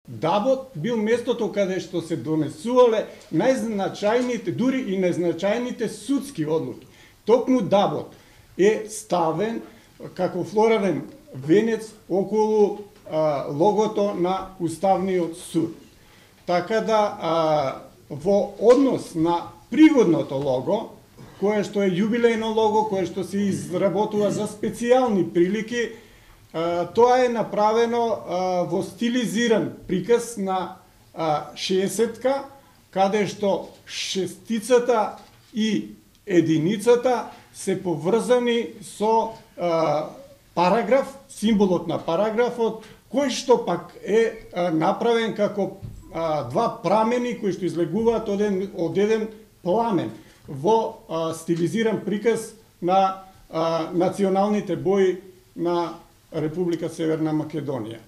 Дабот бил местото каде што се донесувале најзначајните, дури и најзначајните судски одлуки. Токму Дабот е ставен како флорален венец околу логото на Уставниот суд. Така да во однос на пригодното лого, кое што е јубилејно лого, кое што се изработува за специјални прилики, тоа е направено во стилизиран приказ на 60-ка, каде што шестицата и единицата се поврзани со параграф, символот на параграфот, кој што пак е направен како два прамени кои што излегуваат од еден пламен во стилизиран приказ на националните бои на Република Северна Македонија.